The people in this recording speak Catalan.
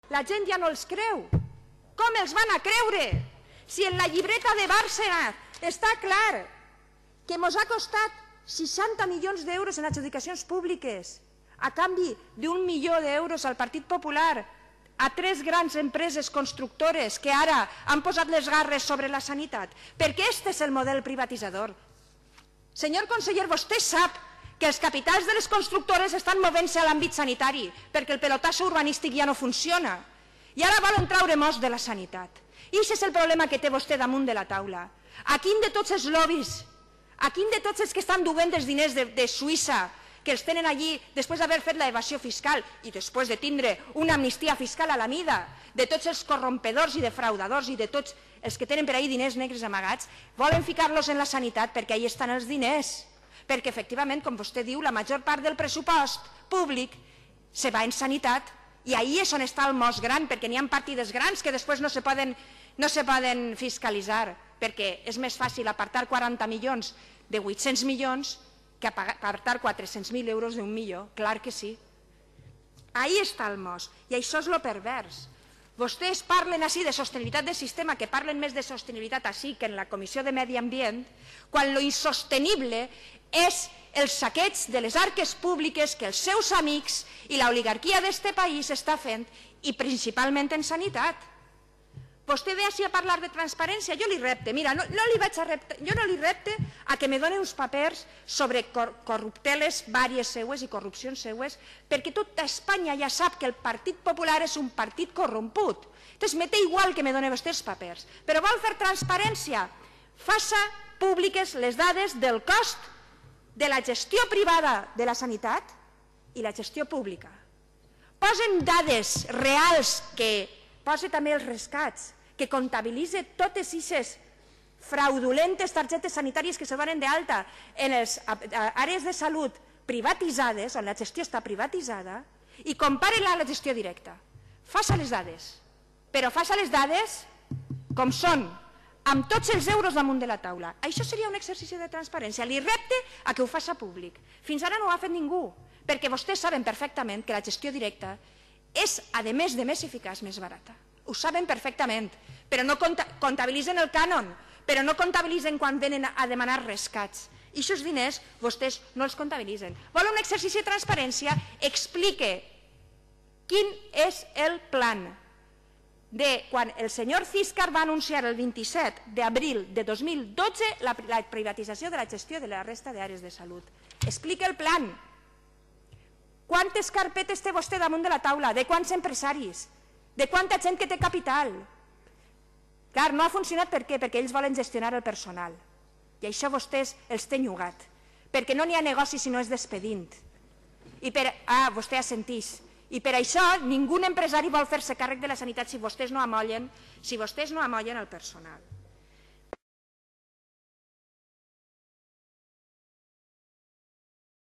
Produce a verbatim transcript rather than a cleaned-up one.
La gent ja no els creu. Com els van a creure? Si en la llibreta de Bárcenas està clar que ens ha costat seixanta milions d'euros en adjudicacions públiques a canvi d'un milió d'euros al Partit Popular, a tres grans empreses constructores que ara han posat les garres sobre la sanitat, perquè aquest és el model privatitzador. Senyor conseller, vostè sap que els capitals de les constructores estan movent-se a l'àmbit sanitari perquè el pelotasso urbanístic ja no funciona i ara volen treure most de la sanitat. I aquest és el problema que té vostè damunt de la taula. A quin de tots els lobbies, a quin de tots els que estan duent els diners de, de Suïssa, que els tenen allí després d'haver fet l'evasió fiscal i després de tindre una amnistia fiscal a la mida, de tots els corrompedors i defraudadors i de tots els que tenen per ahí diners negres amagats, volen ficar-los en la sanitat perquè ahí estan els diners. Perquè efectivament, com vostè diu, la major part del pressupost públic se va en sanitat i ahí és on està el most gran, perquè n'hi ha partides grans que després no se poden, no se poden fiscalitzar, perquè és més fàcil apartar quaranta milions de vuit-cents milions que apartar quatre-cents mil euros d'un milió, clar que sí. Ahí està el most, i això és lo pervers. Vostès parlen així de sostenibilitat del sistema, que parlen més de sostenibilitat així que en la Comissió de Medi Ambient, quan lo insostenible és el saqueig de les arques públiques que els seus amics i l'oligarquia d'este país està fent, i principalment en sanitat. Vostè ve així a parlar de transparència, jo li repte, mira, no, no li vaig a repte, jo no li repte a que me doni uns papers sobre cor corrupteles vàries seues i corrupcions seues, perquè tota Espanya ja sap que el Partit Popular és un partit corromput. Entonces me té igual que me doni vostè els papers, però vol fer transparència, faça públiques les dades del cost de la gestió privada de la sanitat i la gestió pública. Posen dades reals, que posa també els rescats, que comptabilitza totes aquestes fraudulentes targetes sanitàries que se donen d'alta en les àrees de salut privatitzades, on la gestió està privatitzada, i compare-la a la gestió directa. Faça les dades, però faça les dades com són, amb tots els euros damunt de la taula. Això seria un exercici de transparència. Li repte a que ho faça públic. Fins ara no ho ha fet ningú, perquè vostès saben perfectament que la gestió directa és, a més de més eficaç, més barata. Ho saben perfectament, però no comptabilitzen el cànon, però no comptabilitzen quan venen a demanar rescats. I aquests diners vostès no els comptabilitzen. Vol un exercici de transparència? Explique quin és el plan de quan el senyor Císcar va anunciar el vint-i-set d'abril de dos mil dotze la privatització de la gestió de la resta d'àrees de salut. Explique el plan. Quantes carpetes té vostè damunt de la taula? De quants empresaris? De quanta gent que té capital? Clar, no ha funcionat per què? Perquè ells volen gestionar el personal. I això vostès els té enllugat. Perquè no n'hi ha negoci si no és despedint. I per... Ah, vostè assentís. I per això ningú empresari vol fer-se càrrec de la sanitat si vostès no amollen, si vostès no amollen el personal.